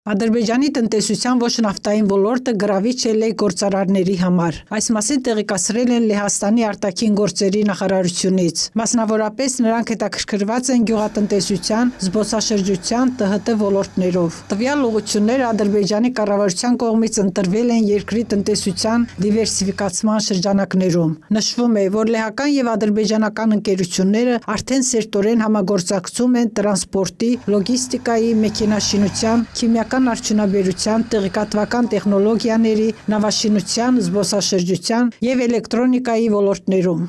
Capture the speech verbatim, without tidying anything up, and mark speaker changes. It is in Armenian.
Speaker 1: Ադրբեջանի տնտեսության ոչ նավթային ոլորտը գրավիչ է լե գործարարների համար։ Այս մասին տեղեկացրել են Լեհաստանի արտաքին գործերի նախարարությունից։ Մասնավորապես նրանք հետաքրքրված են գյուղատնտեսության, զբոսաշրջության, Տ Հ Տ ոլորտներով։ Տվյալ ուղղությունները Ադրբեջանի կառավարության կողմից ընտրվել են երկրի տնտեսության դիվերսիֆիկացման շրջանակներում։ Նշվում է, որ լեհական եւ ադրբեջանական ընկերությունները արդեն սերտորեն համագործակցում են տրանսպորտի, լոգիստիկայի, մեքենաշինության, քիմիական արդյունաբերության, տեղեկատվական տեխնոլոգիաների, նավաշինության, զբոսաշրջության և էլեկտրոնիկայի ոլորտներում։